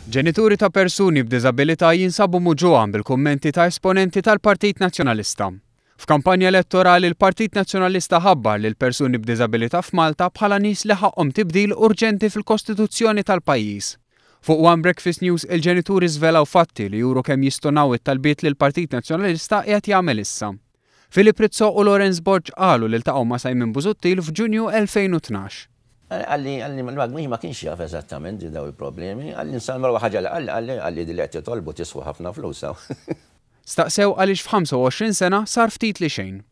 Ġenituri ta' persuni b'diżabilità jinsabu muġugħa bil-kummenti ta' esponenti tal-Partit Nazzjonalista. F'kampanja elettorali l-Partit Nazzjonalista ħabbar lil persuni b'diżabilità f'Malta bħala nies li ħaqqhom tibdil urġenti fil-Kostituzzjoni tal-pajjiż. Fuq One Breakfast News il-ġenituri żvelaw fatti li juru kemm jistonaw it-talbiet li l-Partit Nazzjonalista qiegħed jagħmel issa. Philip Rizzo u Lawrence Borg qalu li ltaqgħu ma' Simon Busuttil f'Ġunju 2012. Qalli, qalli, ma ma kienx jaf eżattament daw il-problemi, qalli nsalma ħaġa li qalli, qalli, qalli di li qed titolbu tiswa ħafna flus hawn. Staqsew għaliex f'25 sena sar ftit li xejn.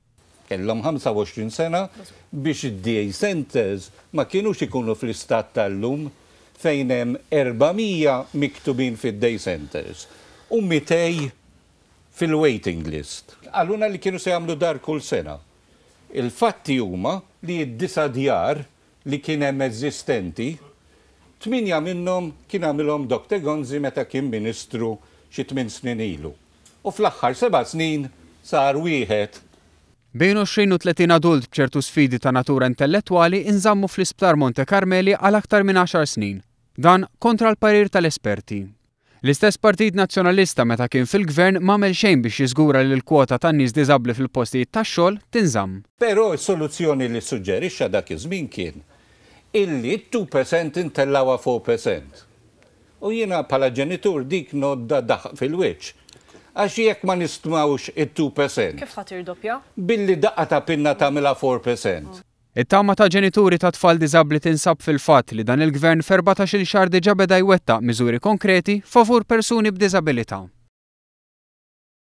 Kellhom 25 sena biex id-day centers ma kinux ikunu fl-istat tal-lum fejn hemm 400 miktubin fid-day centers u 200 fil-waiting list. Qalulna li kienu se jagħmlu dar kull sena. Il-fatti huma li d-disa' djar li kien hemm eżistenti, tmienja minnhom kien għamilhom Doctor Gonzi meta kien Ministru xi tmien snin ilu. U fl-aħħar seba' snin sar wieħed. Bejn 20 u 30 adult b'ċertu sfidi ta' natura intellettwali inżammu fl-Isptar Monte Carmeli għal aktar minn għaxar snin. Dan kontra l-parir tal-esperti. L-istess Partit Nazzjonalista meta kien fil-Gvern m'għamel xejn biex jiżgura li l-kwota tan-nies diżabbli fil-postijiet tax-xogħol tinżamm. Però s-soluzzjoni li ssuġġerixxa dak iż-żmien kien illi t-2% intellgħuha 4%. U jiena bħala ġenitur dik ngħoddha daħq fil-wiċċ. Għax jekk ma nistmawx it-2%. Kif ħa tirdoppja? Billi daqqa ta' pinna tagħmilha 4%. It-tama ta' ġenituri ta' tfal diżabbli tinsab fil-fatt li dan il-Gvern f'erbatax-il xahar diġà beda jwettaq miżuri konkreti favur persuni b'diżabilità.